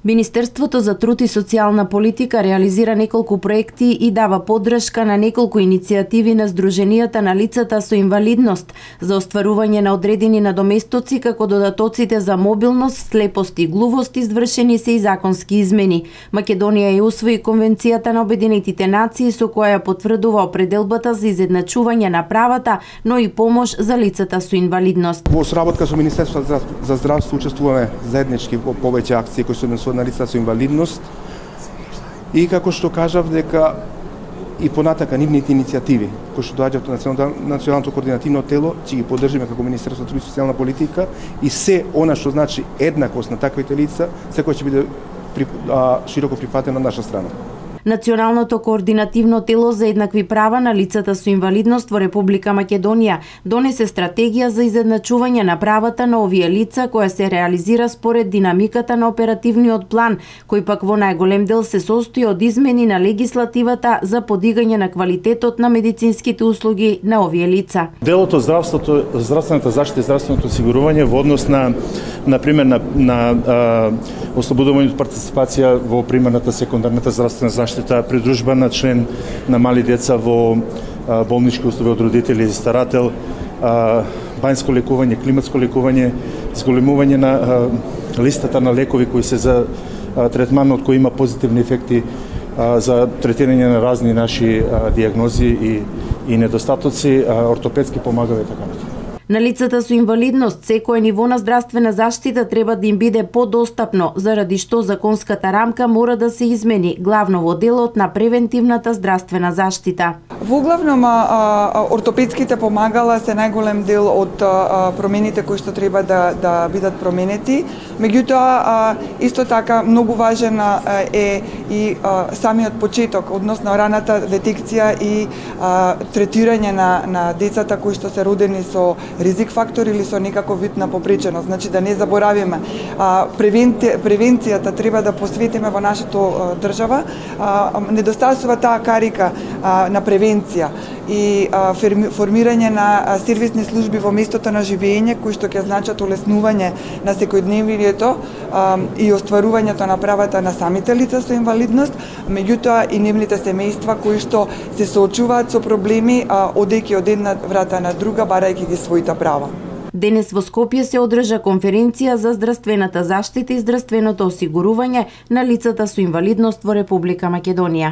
Министерството за труд и социјална политика реализира неколку проекти и дава поддршка на неколку иницијативи на здруженијата на лицата со инвалидност за остварување на одредени надоместоци, како додатоците за мобилност, слепост и глувост. Извршени се и законски измени. Македонија ја усвои Конвенцијата на Обединетите нации со која ја потврдува определбата за изедначување на правата, но и помош за лицата со инвалидност. Во соработка со Министерството за здравство учествуваме заеднички во повеќе акции кои се на лица со инвалидност и како што кажав дека и понатака нивните иницијативи кои што доаѓаат од националното координативно тело ќе ги поддржиме како Министерство за труд и социјална политика и се она што значи еднакост на таквите лица секој ќе биде широко прифатено од наша страна. Националното координативно тело за еднакви права на лицата со инвалидност во Република Македонија донесе стратегија за изедначување на правата на овие лица која се реализира според динамиката на оперативниот план, кој пак во најголем дел се состои од измени на легислативата за подигање на квалитетот на медицинските услуги на овие лица. Делото здравствената заштита и здравственото осигурување во однос на пример на ослободување од партиципација во примерната секундарната здравствена заштита, придружба на член на мали деца во болнички услови од родители и старател, бањско лекување, климатско лекување, зголемување на листата на лекови кои се за третман од кои има позитивни ефекти за третирање на разни наши дијагнози и недостатоци, ортопедски помагали и така натаму. На лицата со инвалидност секое ниво на здравствена заштита треба да им биде подостапно, заради што законската рамка мора да се измени, главно во делот на превентивната здравствена заштита. Воглавном ортопедските помагала се најголем дел од промените кои што треба да бидат променети. Меѓутоа, исто така многу важен е и самиот почеток, односно раната детекција и третирање на децата кои што се родени со ризик фактор или со некаков вид на попреченост. Значи да не заборавиме, превенцијата треба да посветиме во нашата држава. Недостасува таа карика на превенција и формирање на сервисни служби во местото на живење кои што ќе значат улеснување на секојдневието и остварувањето на правата на самите лица со инвалидност, меѓутоа и нивните семејства кои што се соочуваат со проблеми одејќи од една врата на друга барајќи ги своите права. Денес во Скопје се одржа конференција за здравствената заштита и здравственото осигурување на лицата со инвалидност во Република Македонија.